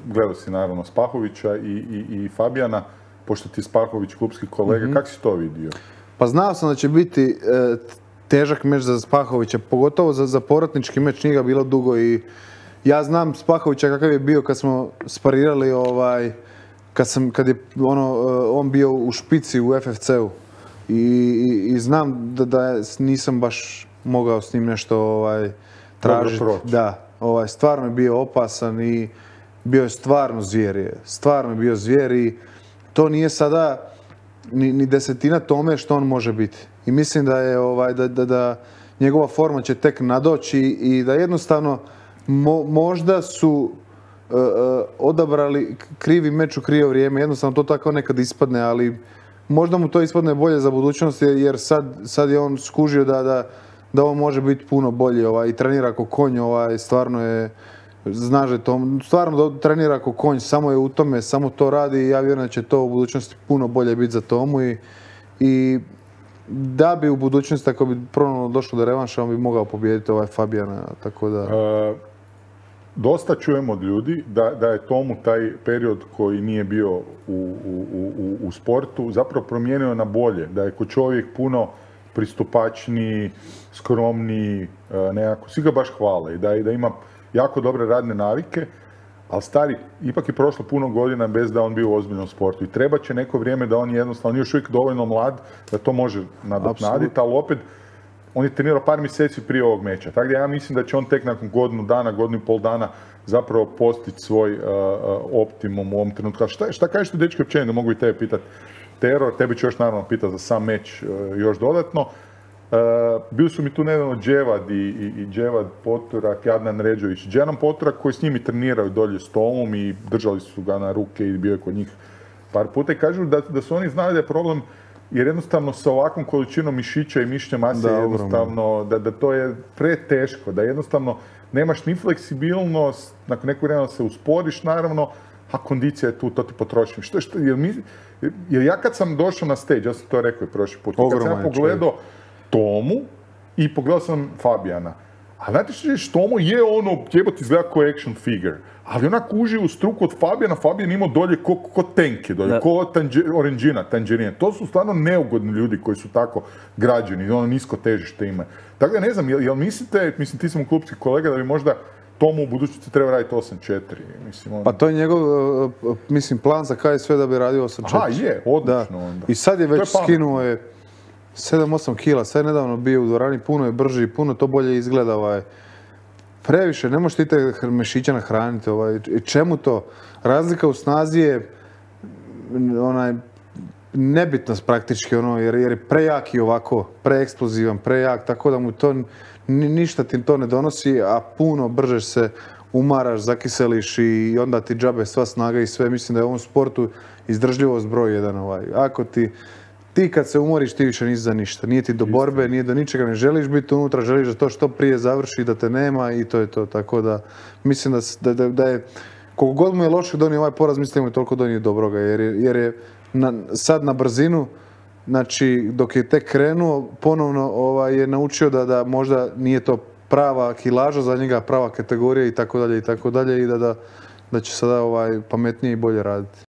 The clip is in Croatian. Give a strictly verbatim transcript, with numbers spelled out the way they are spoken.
gledao si naravno Spahovića i, i, i Fabijana, pošto ti Spahović klupski kolega, mm-hmm. kako si to vidio? Pa znao sam da će biti e, težak meč za Spahovića, pogotovo za, za povratnički meč, nije ga bilo dugo i ja znam Spahovića kakav je bio kad smo sparirali, ovaj, kad, sam, kad je ono, on bio u špici u F F C-u i, i, i znam da, da nisam baš mogao s njim nešto ovaj, tražiti. Da, ovaj, stvarno je bio opasan i bio je stvarno zvijer. Stvarno je bio zvijer i to nije sada ni, ni desetina tome što on može biti. I mislim da je ovaj, da, da, da njegova forma će tek nadoći i da jednostavno mo, možda su uh, uh, odabrali krivi meč u krivo vrijeme. Jednostavno to tako nekad ispadne, ali možda mu to ispadne bolje za budućnost jer sad, sad je on skužio da, da, da on može biti puno bolji ovaj, i trenira ako konj, ovaj, stvarno je, znaš da to, stvarno trenira ako konj, samo je u tome, samo to radi i ja vjerujem da će to u budućnosti puno bolje biti za Tomu i, i da bi u budućnosti, ako bi ponovno došlo do revanša, on bi mogao pobijediti ovaj Fabijana, tako da... Uh, dosta čujemo od ljudi da, da je Tomu taj period koji nije bio u, u, u, u sportu zapravo promijenio na bolje, da je ko čovjek puno pristupačniji, skromniji, nekako, svi ga baš hvale i da, da ima jako dobre radne navike, ali stari, ipak je prošlo puno godina bez da on bio u ozbiljnom sportu i treba će neko vrijeme da on jednostavno, on je još uvijek dovoljno mlad da to može nadoknaditi, ali opet on je trenirao par mjeseci prije ovog meča, tako da ja mislim da će on tek nakon godinu dana, godinu i pol dana zapravo postići svoj uh, optimum u ovom trenutku. A šta, šta kažeš ti, dečki, općenito, mogu i tebe pitati? Tero, tebi ću još naravno pitati za sam meč uh, još dodatno. Uh, bili su mi tu nedavno Dževad i, i, i Dževad Poturak i Adnan Ređović. Dževan Poturak koji s njimi treniraju dolje s Tomom i držali su ga na ruke i bio je kod njih par puta i kažu da, da su oni znali da je problem jer jednostavno sa ovakvom količinom mišića i mišićne mase da, jednostavno, da, da to je preteško, da jednostavno nemaš ni fleksibilnost, nakon nekog vremena se usporiš naravno, a kondicija je tu, to ti potrošim. Što, što, jer, mi, jer ja kad sam došao na stage, ja sam to rekao i prošli put, kad sam ja pogledao Tomu i pogledao sam Fabijana, a znate što je, Tomu je ono, jebot izgleda kao action figure, ali onako uživo u struku od Fabijana, Fabijan imao dolje ko, ko tenke dolje, ko tanđe, oranđina, tanđerine. To su stvarno neugodni ljudi koji su tako građeni, ono nisko težište ima. Tako da ne znam, jel, jel mislite, mislim ti sam klupski kolega, da bi možda Tomu u budućnosti treba raditi osam četiri? Mislim, on... Pa to je njegov, mislim, plan za K S V da bi radio osam četiri. Aha, je, odlično onda. I sad je već je skinuo je sedam osam kila, sad je nedavno bio u dvorani, puno je brži, puno to bolje izgleda. Ovaj. Previše, ne možete i te mešića nahraniti. Ovaj. Čemu to? Razlika u snazi je onaj, nebitnost praktički, ono, jer, jer je prejak i ovako, preeksplozivan, prejak, tako da mu to ništa ti to ne donosi, a puno brže se umaraš, zakiseliš i onda ti džabe sva snaga i sve. Mislim da je u ovom sportu izdržljivost broj jedan. Ovaj. Ako ti Ti kad se umoriš, ti više nisi za ništa. Nije ti do borbe, nije do ničega, ne želiš biti unutra, želiš da to što prije završi, da te nema i to je to. Tako da mislim da, da, da je, koliko god mu je loše donio ovaj poraz, mislim da mu je toliko donio dobroga. Jer je, jer je na, sad na brzinu, znači dok je tek krenuo, ponovno ovaj, je naučio da, da možda nije to prava kilaža za njega, prava kategorija i tako dalje i tako dalje i da, da, da će sada ovaj, pametnije i bolje raditi.